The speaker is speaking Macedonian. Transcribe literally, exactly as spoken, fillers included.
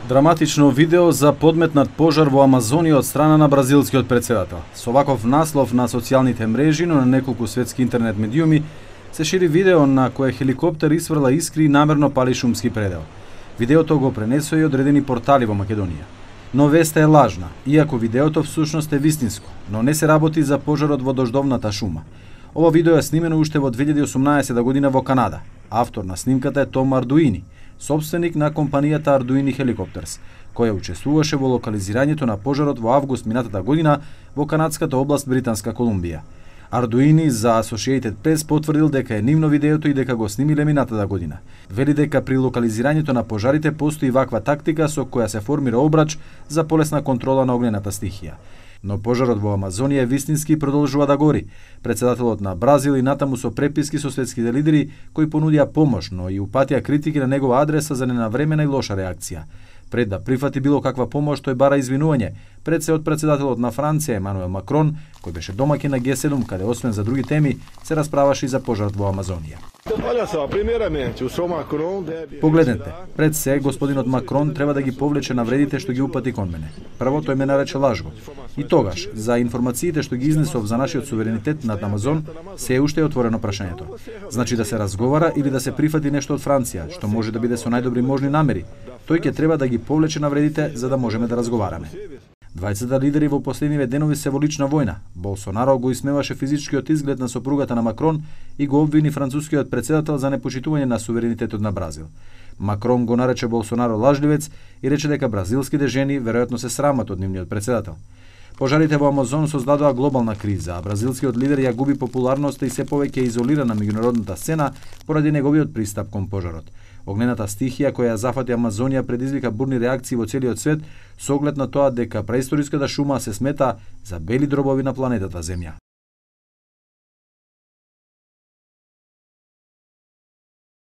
Драматично видео за подметнат пожар во Амазонија од страна на бразилскиот претседател. Со ваков наслов на социјалните мрежи, но на неколку светски интернет медиуми, се шири видео на кое хеликоптер исфрла искри и намерно пали шумски предел. Видеото го пренесоа и одредени портали во Македонија. Но веста е лажна, иако видеото всушност е вистинско, но не се работи за пожарот во дождовната шума. Ова видео е снимено уште во две илјади и осумнаесета година во Канада. Автор на снимката е Том Ардуини, собственик на компанијата Ardouini Helicopters, која учествуваше во локализирањето на пожарот во август минатата година во канадската област Британска Колумбија. Ардуини за Associated Press потврдил дека е нивно видеото и дека го снимиле минатата година. Вели дека при локализирањето на пожарите постои ваква тактика со која се формира обрач за полесна контрола на огнената стихија. Но пожарот во Амазонија е вистински и продолжува да гори. Претседателот на Бразил и натаму со преписки со светските лидери кои понудија помош, но и упатија критики на негова адреса за ненавремена и лоша реакција. Пред да прифати било каква помош, тој бара извинување пред се од претседателот на Франција Емануел Макрон, кој беше домаќин на Г седум, каде освен за други теми се расправаше и за пожарот во Амазонија. Погледнете, пред се господинот Макрон треба да ги повлече навредите што ги упати кон мене. Прво тој ме нарече лажго. И тогаш, за информациите што ги изнесов за нашиот суверенитет над Амазон, се е уште е отворено прашањето. Значи да се разговара или да се прифати нешто од Франција, што може да биде со најдобри можни намери. Тој ќе треба да ги повлече навредите за да можеме да разговараме. Двајцата лидери во последниве денови се во лична војна. Болсонаро го исмеваше физичкиот изглед на сопругата на Макрон и го обвини францускиот претседател за непочитување на суверенитетот на Бразил. Макрон го нарече Болсонаро лажливец и рече дека бразилските жени веројатно се срамат од нивниот претседател. Пожарите во Амазон создадоа глобална криза, а бразилскиот лидер ја губи популарноста и се повеќе изолира на меѓународната сцена поради неговиот пристап кон пожарот. Огнената стихија која ја зафати Амазонија предизвика бурни реакции во целиот свет со оглед на тоа дека преисториската шума се смета за бели дробови на планетата Земја.